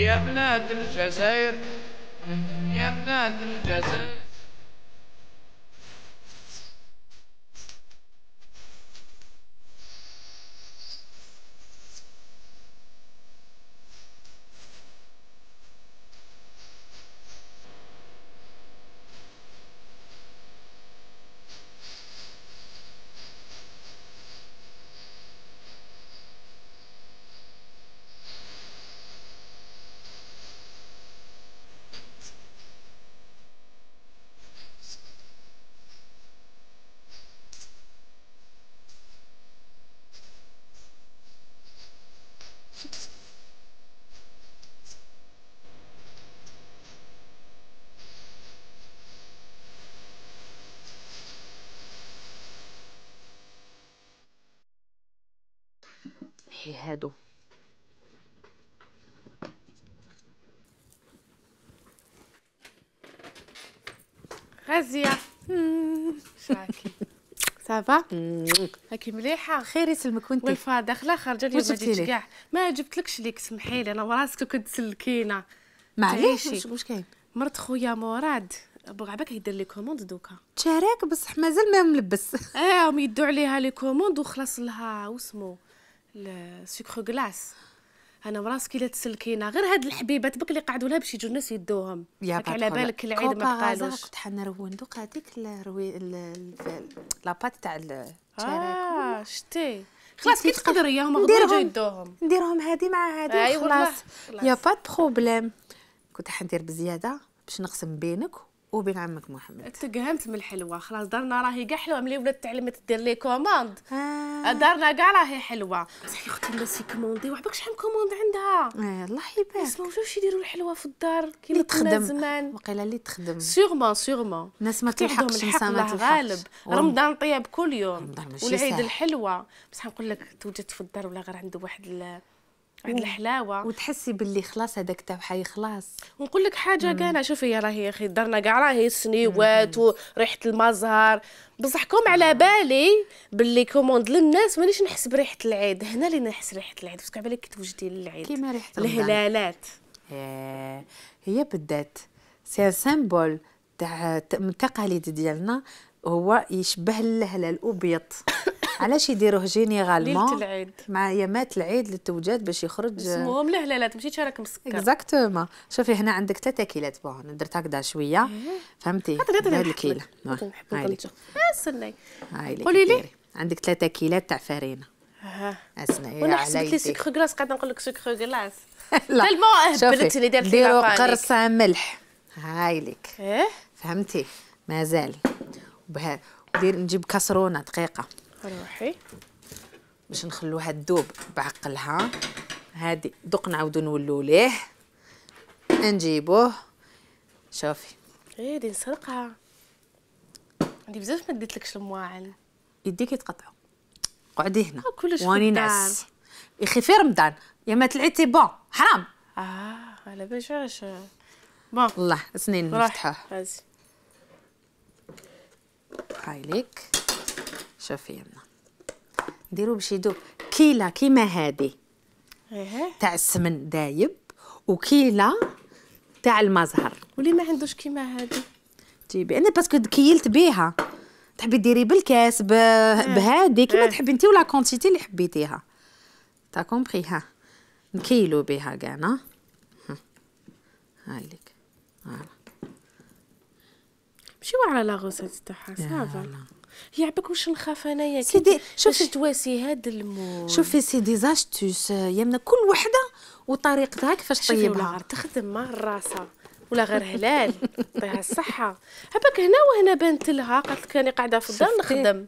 يا بلاد الجزائر يا بلاد الجزائر. هادو غازية شراكي صافا راكي مليحه؟ خير يسلمك وانت والفا داخله خارجه اليوم ما جيتش لي؟ كاع ما جبتلكش ليك سمحي لي انا وراسك كنت تسلكينا معليش واش كاين مرت خويا مراد بغابك يدير لي كوموند دوكا تشارك بصح مازال ما ملبس هم يدوا عليها لي كوموند وخلاص لها واسمو السكر غلاس انا وراسك الا تسلكينا غير هاد الحبيبات بك اللي قعدوا لها باش يجوا الناس يدوهم على بالك العيد ما بقالوش كنت حنروي ندوق هذيك لاباط تاع التشارك شتي خلاص كي تقدري هما غير يدوهم نديرهم هادي مع هادي خلاص يا با بروبليم كنت حندير بزياده باش نقسم بينك وبين عمك محمد. تقهمت من الحلوه خلاص دارنا راهي كاع حلوه ملي ولات تعلمت دير لي كوموند دارنا كاع راهي حلوه بصح يا اختي الناس يكوموندي وعباك شحال كوموند عندها الله يبارك اسمعوا واش يديروا الحلوه في الدار كيما كنا زمان وقيله اللي تخدم سيغمون الناس ما تلحقش نسامات غالب رمضان طياب كل يوم والعيد سهل. الحلوه بصح نقول لك توجد في الدار ولا غير عنده واحد الحلاوه وتحسي باللي خلاص هذاك تاع حي خلاص. ونقول لك حاجه كاع شوفي راهي يا اخي دارنا كاع راهي السنيوات وريحه المزهر بصحكم على بالي باللي كوموند للناس مانيش نحس بريحه العيد هنا اللي نحس ريحه العيد باسكو على بالك توجدي للعيد كيما ريحه الهلالات هي بدات سي سيمبول تاع التقاليد ديالنا هو يشبه الهلال الابيض علاش يديروه جينيرالمون ليله العيد مع يامات العيد للتوجات باش يخرج اسمهم الهلالات ماشي راك مسكر اكزاكتومون. شوفي هنا عندك 3 كيلات بون درت هكذا شويه فهمتي هذا الكيله هاي استني قولي لي عندك 3 كيلات تاع فرينه اسمعي وانا حسبت لي سكر غلاس قاعده نقول لك سكر غلاس لا تلمو هبلتني درت لي ديروا قرصه ملح هاي لك فهمتي مازال وبها نجيب كسرونه دقيقه روحي باش نخلوها تذوب بعقلها هادي دوق نعاودو نولو ليه نجيبوه شوفي دي نسرقها عندي بزاف ما ديتلكش المواعن يديك يتقطعوا قعدي هنا كلش واني نعس يا اخي في رمضان يا ما طلعت سي بون حرام على باش بون والله سنين نفتحوه هاي ليك شوفي يمنا نديرو باش يذوب كيله كيما هادي تاع السمن دايب وكيله تاع المزهر واللي ما عندوش كيما هادي جيبي انا باسكو كيلت بيها تحبي ديري بالكاس بهادي كيما تحبي انت ولا كونتيتي اللي حبيتيها تا كومبري نكيلو بها كاع هاي ليك ماشي على لا غوسيت تاعها صافا يعبك واش نخاف انايا سيدي شوفي تواسي هاد المول شوفي سيدي زاستوس يمنا كل وحده وطريقتها كيفاش طيبها ولا تخدم مع الراسه ولا غير هلال يعطيها الصحه هباك هنا وهنا بانت لها قالت لك راني قاعده في الدار نخدم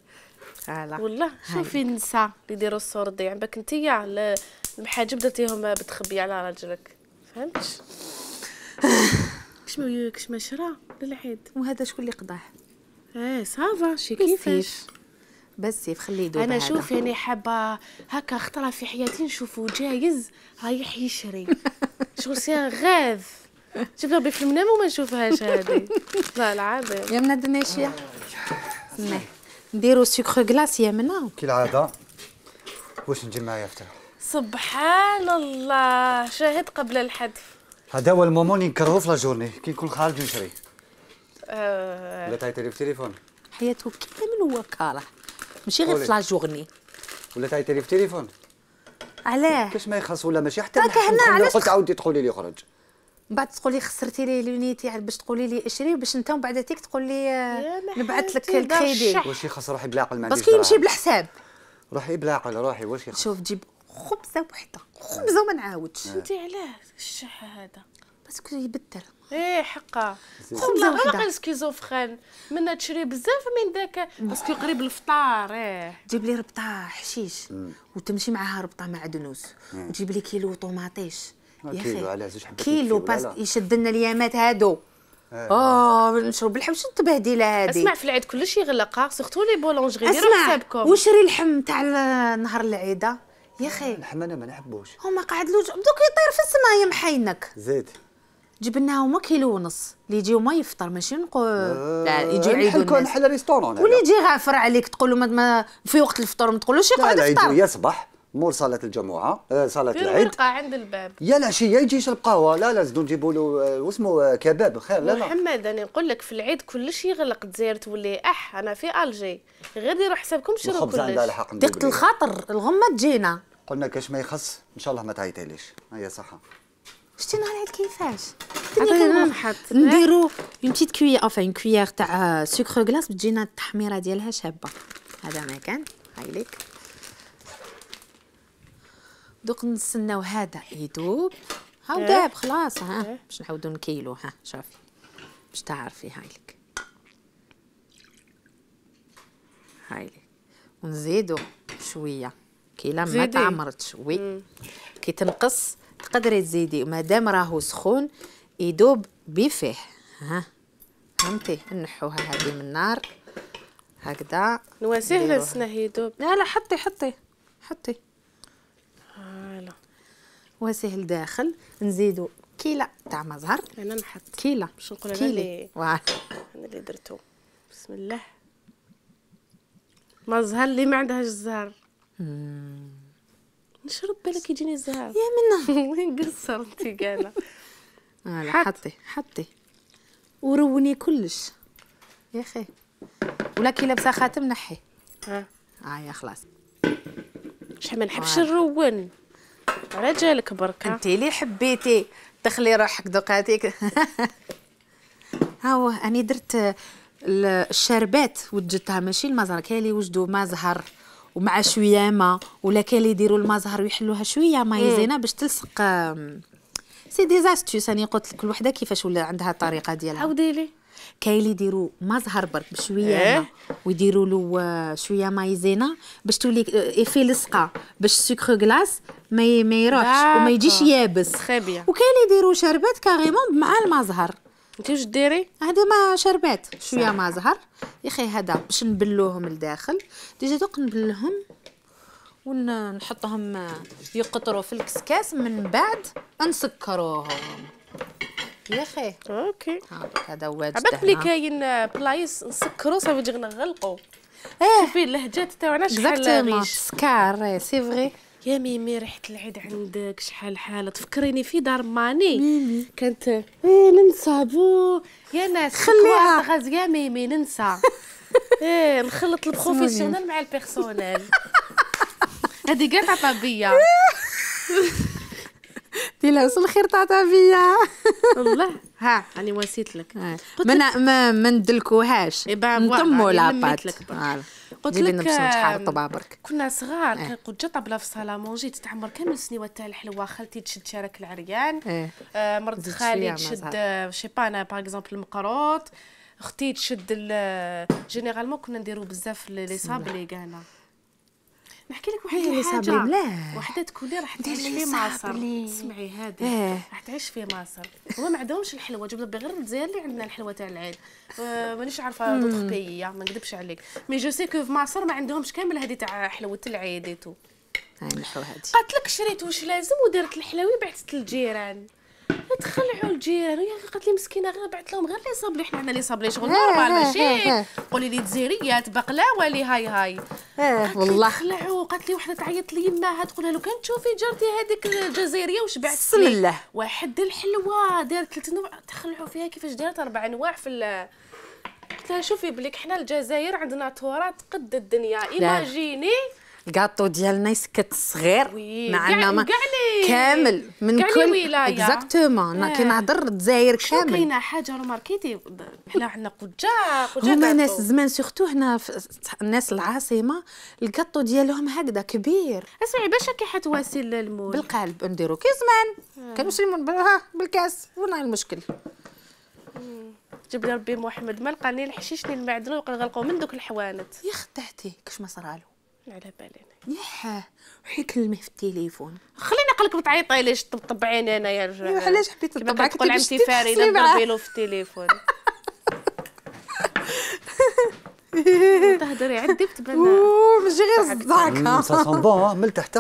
والله شوفي النساء اللي يديروا السوردي عباك نتيا المحاجب درتيهم بتخبي على راجلك فهمتش كش ما شرا للعيد وهذا شكون اللي قضاه صافا شي كيفاش بس خليه يدوب انا شوف يعني حابه هكا خطره في حياتي نشوفه جايز رايح يشري شغل سي غاف شوفها في المنام وما نشوفهاش هذه لا العظيم يا منا دنيشيه نديرو سكر غلاس يا منا كالعاده واش نجي معايا فتح سبحان الله شاهد قبل الحذف هذا هو المومون اللي نكرهو في لا جورني كي نكون خارج نشري. ولا تعيطي لي في التليفون. حياته كامل هو كاره ماشي غير في لا جورني. ولا تعيطي لي في التليفون. علاه؟ كاش ما يخلص ولا ماشي حتى راك هنا علاش قلت عاودي تقولي لي خرج. من بعد تقولي خسرتي لي لونيتي باش تقولي لي اشري باش انت من بعد تيك تقول لي نبعث لك الكريدي. واش يخص روحي بالعقل ما عنديش. باسكو يمشي بالحساب. روحي بالعقل روحي واش يخص. شوف جيب خبزه وحده خبزه وما نعاودش. انت علاه الشح هذا باسكو يبدل. ايه حقا خبزه والله وحده. غير سكيزوفرين منا تشري بزاف من داك باسكو قريب الفطار. جيب لي ربطه حشيش وتمشي معاها ربطه معدنوس وتجيب لي كيلو طوماطيش يا كيلو اخي على زوج حبات كيلو باس يشد لنا اليامات هادو. نشرب بالحوش التبهديله هادي. اسمع في العيد كلشي يغلق سورتو لي بولونجري ديروا اسمع حسابكم. وشري اللحم تاع نهار العيده يا اخي. اللحم انا ما نحبوش. هما قعدلوش دوك يطير في السماء يا محينك. زيد جيب لنا هما كيلو ونص اللي يجيو ما يفطر ماشي نقول لا يجي يعيدوا الناس. نحل ريستورون واللي يجي غافر عليك تقول له ما في وقت الفطور ما تقولوش يقعد لا يفطر. يجي يصبح مول صلاة الجمعة صلاة في العيد ورقه عند الباب. يا العشية يجي يشرب قهوة. لا زدو نجيبوا له واسمه كباب خير. لا محمد انا نقول لك في العيد كلشي يغلق الجزائر تولي انا في الجي غير ديروا حسابكم شرو الخبز عندها كلش. الحق. دقة الخاطر الغمه تجينا. قلنا كاش ما يخص ان شاء الله ما تعيطيليش. هيا صحة. شتي نهار العيد كيفاش عطينا نحط نديرو اون بتيت كوي اون كويير تاع سكر غلاس بتجينا التحميره ديالها شابه. هذا ما كان هاي ليك. دوك نستناو هذا يذوب. هاو داب خلاص. باش نعاودو نكيلو. شوفي باش تعرفي. هاي لك هاي لك ونزيدو شويه كيلا ما تعمرتش. وي كي تنقص تقدري تزيدي ومادام راهو سخون يذوب بفيه. فهمتي. نحوها هذه من النار هكذا نواسيه لسنا يذوب. لا حطي فوالا واسيه لداخل. نزيدو كيله تاع مزهر. انا نحط كيله باش نقول كيلي. انا اللي درتو. بسم الله. مزهر اللي ما عندهاش الزهر. نشرب بالك يجيني الزهر يا منه. نقصر انت قاله. حطي وروني كلش يا اخي. ولا كي لابسه خاتم نحي. يا خلاص. شحال ما نحبش نرون على جالك بركه. انت اللي حبيتي دخلي روحك دقاتيك. هاو اني درت الشربات وجدتها ماشي المزهر. كاين اللي يوجدوا مزهر ومع شويه ما ولا كاين اللي يديروا المزهر ويحلوها شويه مايزينا باش تلصق. سي دي زاستوس. انا قلت لك كل وحده كيفاش ولا عندها الطريقه ديالها. عاودي لي. كاين اللي يديروا مزهر برك بشويه ما ويديروا له شويه مايزينا باش تولي ايفي لصقه باش السكر غلاس ما يروحش وما يجيش يابس. خابيه. وكاين اللي يديروا شربات كاريمون مع المزهر. انت واش ديري؟ هذا ما شربات شويه مزهر يا اخي. هذا باش نبلوهم لداخل. ديجا دوك نبلهم ونحطهم يقطروا في الكسكاس من بعد نسكروهم يا اخي. اوكي هذا واجد. عباك بلي كاين بلايص نسكروا صافي نجي نغلقوا. شوفي اللهجات تاعنا شحال ريش. سكار سي فغي. يا ميمي ريحه العيد عندك شحال حاله. تفكريني في دار ماني كانت ننسى بو يا ناس خليها غاز يا ميمي ننسى. نخلط البروفيسيونيل مع البيرسونيل. هذه كاع طبيعيه. ديلا وصل الخير تعطى فيا والله. راني واسيت لك. ما ندلكوهاش نطمو لاباط. قلت لك شحال طبا برك كنا صغار كان قد جا طابله في صاله مونجي تتعمر كامل السنيوات تاع الحلوه. خالتي تشد شارك العريان. مرت خالي تشد شي با انا باغ اكزومبل المقروط. اختي تشد جينيرالمون كنا نديرو بزاف لي صابلي كاعنا. نحكي لك واحد الحاجه. وحده تكون لي راح تعيش في مصر. اسمعي هذه راح تعيش في مصر. هما ما عندهمش الحلوه. جبنا غير الجزائر اللي عندنا الحلوه تاع العيد. مانيش عارفه دوطخ بيي ما نكذبش عليك. مي جو سي كو في مصر ما عندهمش كامل هذه تاع حلوه العيد ايتو. هاي نحو هذه. قالت لك شريت واش لازم ودرت الحلاوي بعثت للجيران. تخلعوا الجيران قالت لي مسكينه غير بعث لهم غير لي صابلي، حنا عندنا لي صابلي شغل نورمال ماشي قولي لي جزائريات بقلاوه لي هاي والله تخلعوا. قالت لي وحده تعيط لي يماها تقولها له كان تشوفي جارتي هذيك الجزائريه واش بعثت بسم الله واحد الحلوه دارت 3 نوع تخلعوا فيها كيفاش دارت 4 انواع في قلت لها شوفي بليك حنا الجزائر عندنا تراث قد الدنيا ايماجيني الكاطو ديالنا يسكت صغير معنا ما كامل من كل اكزاكتومون كنهضر الجزائر كامل. كاينه حاجه ماركيتي حنا عندنا قجا هما ناس زمان سورتو هنا الناس العاصمه الكاطو ديالهم هكذا كبير. اسمعي باش كي حتواسي المول بالقالب نديرو كي زمان كانوا يسلمون بالكاس وين المشكل. جاب لي ربي محمد ما لقاني الحشيشني المعدن وغلقوا من دوك الحوانت. يا خدعتي كاش ما صرالو على بالي ياه وحي كلمه في التليفون خليني نقلك بتعيطي ليش طبطب عيني انا يا رجال. علاش حبيت تطبعك تقول عمتي فاريده ضربي له في التليفون تهضري عندي بتبان ماشي غير صداعك سا سون بون من تحت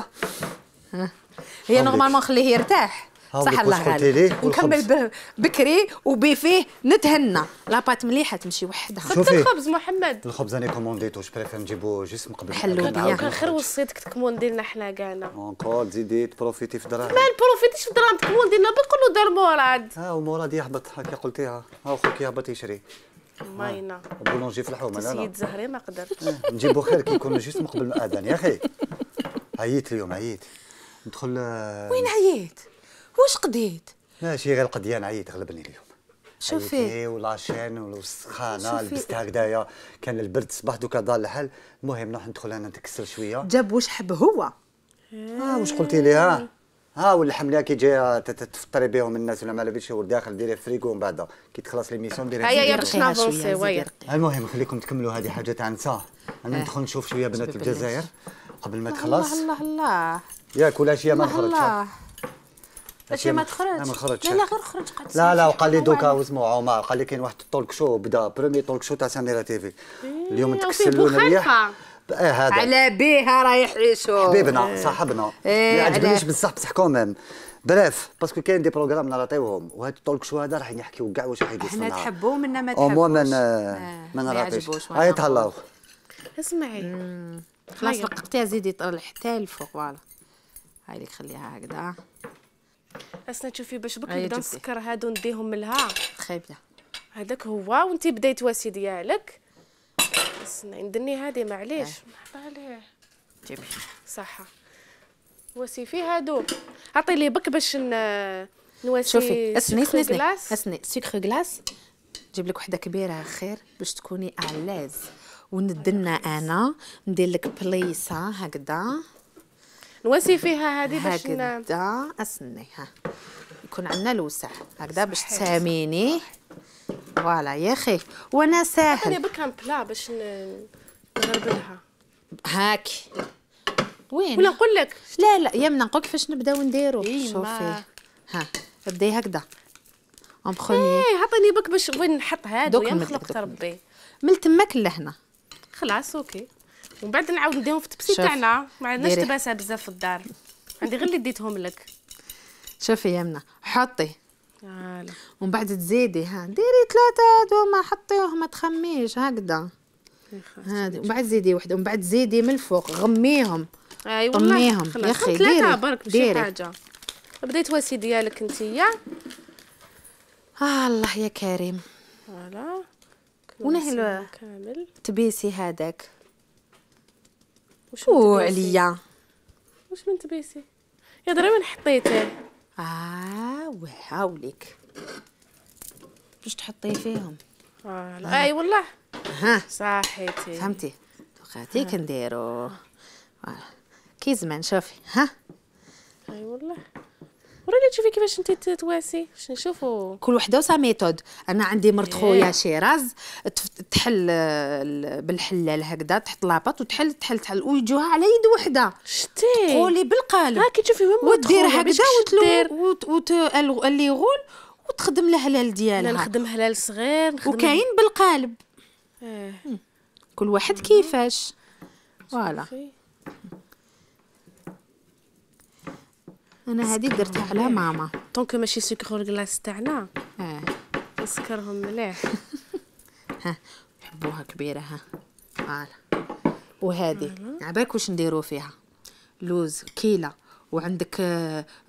هي نورمالمون خليه يرتاح صح الله غالي نكمل بكري وبفيه نتهنى لاباط مليحه تمشي وحدها. شوفي الخبز محمد الخبز انا كومونديتو جو بريفير نجيبو جسم قبل حلو كان خير وصيتك تكموندي لنا حنا كاعنا اونكور تزيدي تبروفيتي في دراهم ما نبروفيتيش في دراهم تكموندي لنا بنقولوا دار مراد ومراد يهبط هكا قلتيها خوك يهبط يشري ماينه بولونجي في الحومه لا سيد زهري ما قدرتش نجيبو خير كي يكون جسم قبل الاذان يا اخي. عييت اليوم عييت ندخل وين عييت واش قضيت؟ ماشي غير القضيان عييت غلبني اليوم. شوفي ولاشين والسخانه لبست هكذايا كان البرد صباح دوكا دار الحال. المهم نروح ندخل انا نتكسر شويه. جاب واش حب هو واش قلتي لي واللحم اللي كي جاي تفطري بهم الناس ولا ما لاباش هو داخل ديري فريكو ومن بعد كي تخلص ليميسيون ديري هيا باش نافونسي ويا. المهم خليكم تكملوا هذه حاجه تاع نساء. انا ندخل نشوف شويه بنات الجزائر قبل ما تخلص. الله ياك ولا شي ما نخرجش اشي ما تخرج لا غير خرج قد لا وقال لي دوكا واسمو عمر قال لي كاين واحد التولك شو بدا بريمي تولك شو تاع سميره تيفي اليوم تكسلونا الريح هذا على بيها رايح يشوف حبيبنا صاحبنا ما عجبنيش بصح كوميم بريف باسكو كاين دي بروغرام نراطيوهم وهاد التولك شو هذا راح يحكيو كاع واش راح يدير حنا نحبوه منا ما تحبوش ما نراطيش هاي تهلاو. اسمعي خلاص لقطيها زيدي حتى الفوق فوالا هاي اللي خليها هكذا. اسنا تشوفي باش بك نبدا نسكر هادو نديهم من لها خايبه هذاك هو وانتي بديت واسي ديالك. اسنا ندني هادي معليش مرحبا عليه جيبي صحه واسي فيه هادو عطي لي بك باش نواسي. شوفي اسني سكر غلاس نجيب لك وحده كبيره خير باش تكوني اعلاز وندنا انا ندير لك بليصه هكذا نواسي فيها هذه باش هكذا اسني يكون عندنا الوسع هكذا باش تساميني فوالا يا اخي وانا ساهل. انا بك بلا باش نغربلها هاكي وين ولا نقول لك لا يمنا نقول كيفاش نبداو نديرو. شوفي بدي هكذا اون بروميير عطيني بك باش وين نحط هادو يا مخلوق ربي من تماك لهنا خلاص اوكي ومن بعد نعاود نديهم في التبسي تاعنا ما عندناش تباسه بزاف في الدار عندي غير اللي ديتهم لك. شوفي يمنا حطي ومن بعد تزيدي ديري 3 دوما حطيوهم ما تخميش هكذا هادي ومن بعد زيدي وحده ومن بعد زيدي من الفوق غميهم طميهم يا اخي ديري برك ماشي حاجه. بديت واسي ديالك نتيا الله يا كريم فوالا ونهي كامل تبيسي هذاك وشو عليا واش من تبيسي يا دري وين حطيته وهاوليك باش تحطيه فيهم اي والله صحيتي فهمتي دوكاتي كنديرو كي زمان شوفي اي والله وريني تشوفي كيفاش انت تواسي باش نشوفوا كل وحده وسا ميثود. انا عندي مرت خويا شيراز تحل بالحلال هكذا تحط لاباط وتحل ويجوها على يد وحده شتي قولي بالقالب كي تشوفي وين ودير هكذا اللي يغول وتخدم الهلال ديالها. انا نخدم هلال صغير وكاين بالقالب كل واحد كيفاش فوالا. انا هذه درتها على ماما طونك ماشي سكر كلاص تاعنا نسكرهم مليح. ها نحبوها كبيره. ها فوالا. وهذه عباك واش نديرو فيها؟ لوز كيله، وعندك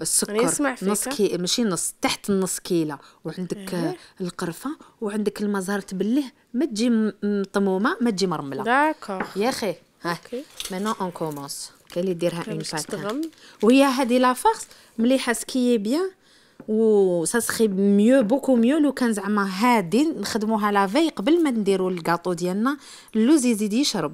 السكر نسمع فيك. نص ماشي نص، تحت النص كيله، وعندك القرفه، وعندك المزهر تبليه ما تجي مطمومه ما تجي مرمله. داكوغ يا اخي. ها اوكي. مانون اون كومونس. كاين اللي يديرها اون باش باك. تتغم. وهي هذه لا فارس مليحه سكي بيان، و سا سخي ميو بوكو ميو لو كان زعما هادي نخدموها لافي قبل ما نديرو الكاطو ديالنا. اللوز يزيد يشرب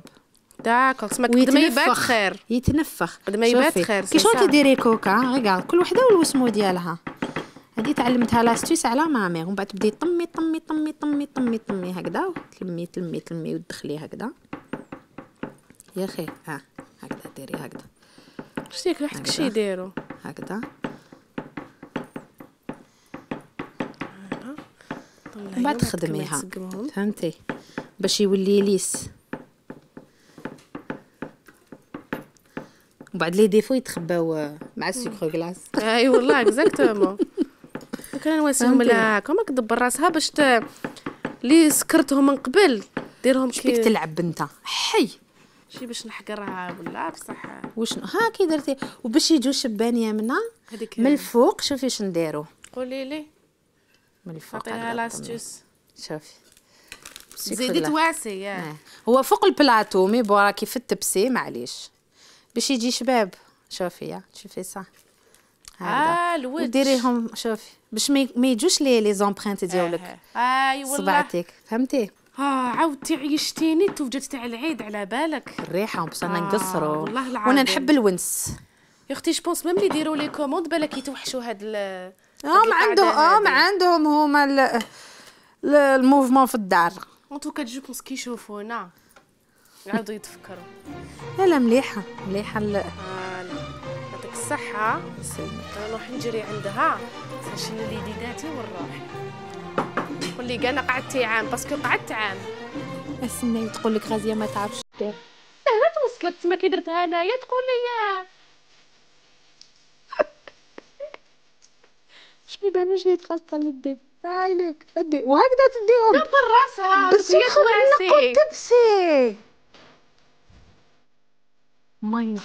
داكوغ. سما قد ما يبات خير. يتنفخ قد ما يبات شوفي. خير. كي شغل كيديري كوكا ريغارد كل وحده والوسمو ديالها. هذه تعلمتها لاستيس على مامي، ومن بعد تبدي طمي طمي طمي طمي طمي طمي هكذا، تلمي تلمي تلمي وتدخلي هكذا يا اخي. ها هكذا ديري هكذا. شتيك وحدك شي يديروا هكذا ومن بعد تخدميها فهمتي باش يولي ليس. وبعد لي ديفو يتخباو مع السكر كلاص. اي والله اكزاكتومون. كان نواسيهم لا كما كدبر راسها باش لي سكرتهم من قبل ديرهم شبيك تلعب انت حي شي باش نحقرها ولا بصح وشنو. ها كي درتي وباش يجوا شبانيه منها من الفوق. شوفي اش نديرو. قولي لي من الفوق. عطيها لاستيس. شوفي زيدي تواسي. هو فوق البلاطو مي راكي في التبسي معليش باش يجي شباب. شوفي شوفي صح هذا الوجه وديريهم. شوفي باش ما يجوش لي زومبرينت ديالك. اي والله صبعتك فهمتي. عاودتي عيشتيني توجد تاع العيد على بالك. الريحه باش انا نقصروا والله العظيم. وانا نحب الونس يا اختي جوبونس ميم لي يديروا لي كوموند بالك يتوحشوا هاد ما عندهم ما عندهم هما الموفمون في الدار. ان توكا جو بونس كي يشوفونا يعاودوا يتفكروا. لا مليحه مليحه. يعطيك الصحه. يسلمك. انا نروح نجري عندها نشيل اليديداتي ونروح. قولي كاع انا قعدتي عام باسكو قعدت عام. استني تقول لك غازيه ما تعرفش دير. لا توصلت تما كي درتها انايا تقول لي شنو بان جاي تغسل اليدين عايلك ادي وهكذا تديهم دبر راسها بس يخرج تبسي مي.